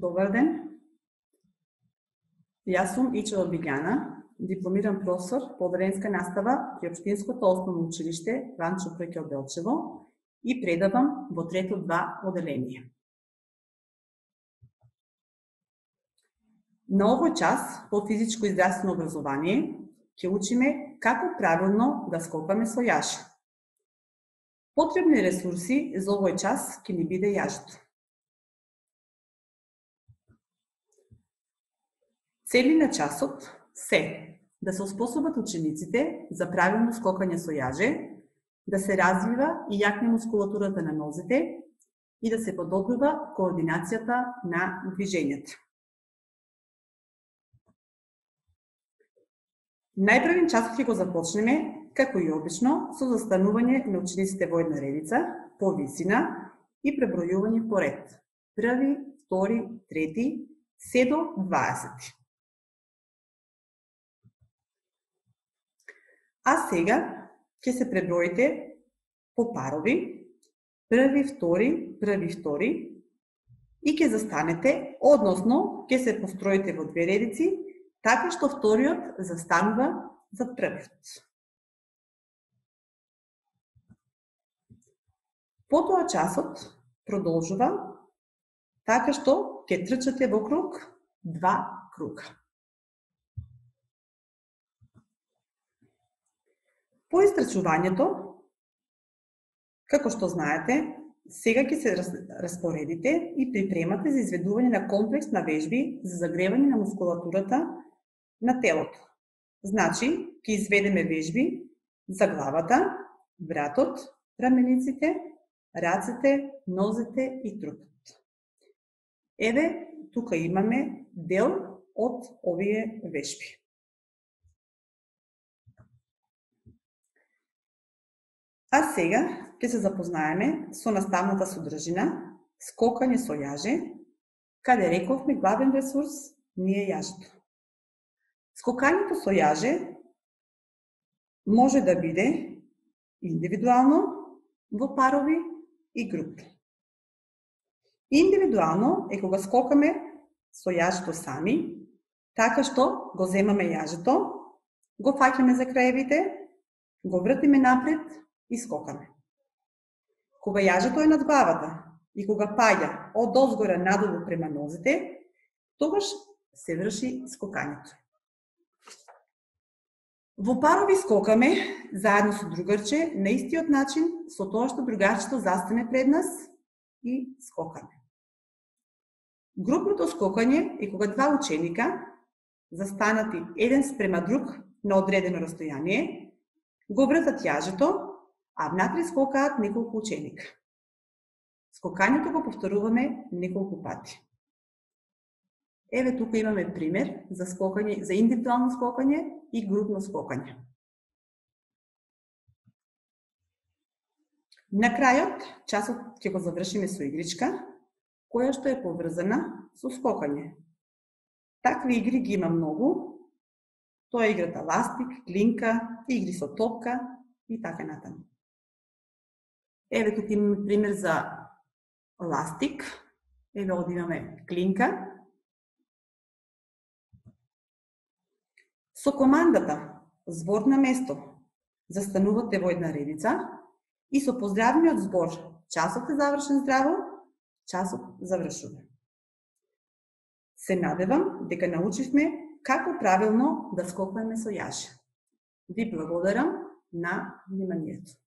Добар ден. Јас сум Ичева Билјана, дипломиран професор по одделенска настава при Општинското основно училиште Ранчо Прекел Делчево и предавам во трето 2 одделение. На овој час по физичко и здравствено образование ќе учиме како правилно да скокаме со јаш. Потребни ресурси за овој час ќе ни биде јажето. Цели на часот се да се оспособат учениците за правилно скокање со јаже, да се развива и јакне мускулатурата на нозете и да се подобрува координацијата на движењето. Најпрвен часот ќе го започнеме, како и обично, со застанување на учениците во една редица, по висина и пребројување по ред. Први, втори, трети, се до 20. А сега ќе се преброите по парови, први, втори, и ќе застанете, односно ќе се построите во две редици, така што вториот застанува зад првиот. Потоа часот продолжува така што ќе трчате во круг 2 круга. По истрчувањето, како што знаете, сега ќе се распоредите и припремате за изведување на комплекс на вежби за загревање на мускулатурата на телото. Значи, ќе изведеме вежби за главата, вратот, рамениците, рацете, нозете и трупот. Еве, тука имаме дел од овие вежби. А сега ќе се запознаеме со наставната содржина, скокање со јаже, каде рековме главен ресурс ни е јажето. Скокањето со јаже може да биде индивидуално, во парови и групи. Индивидуално е кога скокаме со јажето сами, така што го земаме јажето, го фаќаме за краевите, го вртиме напред и скокаме. Кога јажето е над главата и кога паѓа од озгора надолу према нозите, тогаш се врши скокањето. Во парови скокаме заедно со другарче на истиот начин, со тоа што другарчето застане пред нас и скокаме. Групното скокање е кога 2 ученика, застанати еден спрема друг на одредено растојание, го вртат јажето, а внатре скокаат неколку ученика. Скокањето го повторуваме неколку пати. Еве тука имаме пример за скокање, за индивидуално скокање и групно скокање. На крајот, часот ќе го завршиме со игричка, која што е поврзана со скокање. Такви игри ги има многу. Тоа е играта ластик, клинка, игри со топка и така натаму. Еве тука имаме пример за ластик. Еве овде имаме клинка. Со командата збор на место застанувате во една редица и со поздравниот збор часот е завршен здраво, часот завршува. Се надевам дека научивме како правилно да скокаме со јаже. Ви благодарам на вниманието.